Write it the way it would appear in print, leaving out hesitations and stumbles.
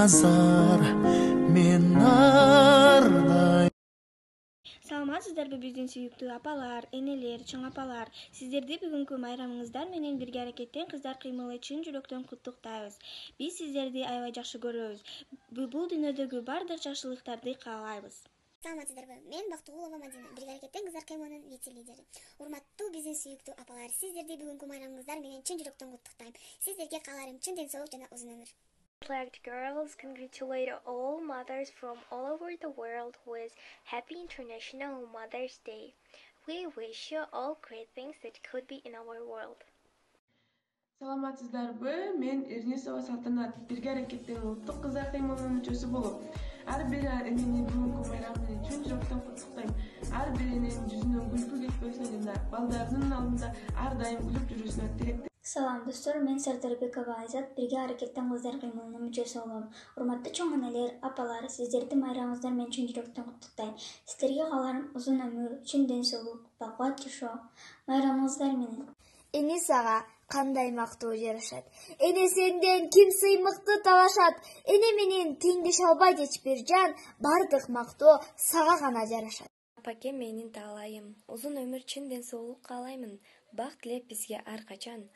азар мен ардайым. Саламатсыздарбы биздин сүйүктүү апалар, энелер, чоң апалар. Сиздерди бүгүнкү майрамыңыздар менен бирге аракеттен кыздар кыймылы чын жүрөктөн куттуктайбыз. Биз сиздерди аябай жакшы көрөбүз. Бул дүйнөдөгү бардык жакшылыктарды каалайбыз. Саламатсыздарбы? Мен Бактыгулова Мадина, бирге аракеттен кыздар кыймылынын вице-лидери. Урматтуу биздин сүйүктүү апалар, сиздерди бүгүнкү майрамыңыздар менен чын жүрөктөн куттуктайм. Сиздерге кааларым чын ден соолук жана узун өмүр. Flagged girls congratulate all mothers from all over the world with Happy International Mother's Day. We wish you all great things that could be in our world. Саламатсыздарбы? Мен Эрнисова Салтанат, бирге аракеттен улуттук кыздар кыймылынын мүчөсү болуп, ар бир энени бүгүнкү майрам менен чын жүрөктөн куттуктайм. Ар бир эненин жүзүнөн күлкү кетпесине жана балдарынын алдында ар дайым күлүп жүрүшүнө тилектейм. Салам достор, мен Сардарбекова Айзат, бирге аракеттен кыздар кыймылынын мүчөсү болом. Урматтуу чоң энелер, апалар, сиздерди майрамыңыздар менен чын жүрөктөн куттуктайм. Сиздерге кааларым узун өмүр, чын ден соолук, бакыт жашоо. Майрамыңыздар менен. Энисага кандай мактоо жарашат? Эне сенден ким сыймыкты талашат? Эне менен теңдеше албайт эч бир жан, бардык мактоо сага гана жарашат. Апаке менин таалайым, узун өмүр, чын ден соолук каалаймын. Бак тилеп бизге ар качан.